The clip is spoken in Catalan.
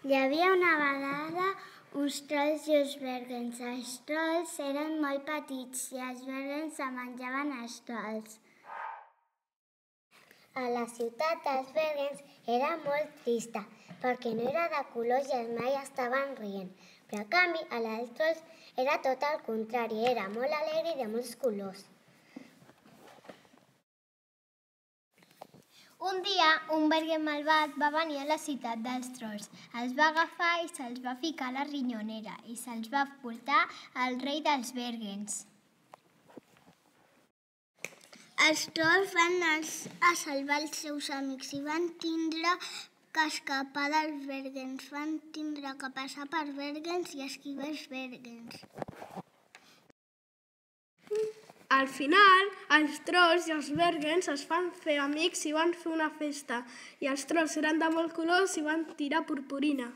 Hi havia una vegada uns trolls i uns bergens. Els trolls eren molt petits i els bergens se menjaven els trolls. A la ciutat dels bergens era molt trista perquè no era de colors i mai estaven rient. Però a canvi, a la dels trolls era tot el contrari, era molt alegre i de molts colors. Un dia, un bergen malvat va venir a la ciutat dels trolls. Els va agafar i se'ls va ficar a la rinyonera i se'ls va portar al rei dels bergens. Els trolls van anar a salvar els seus amics i van tindre que escapar dels bergens. Van tindre que passar per bergens i esquivar els bergens. Al final, els trolls i els bergens es van fer amics i van fer una festa. I els trolls eren de molts colors i van tirar purpurina.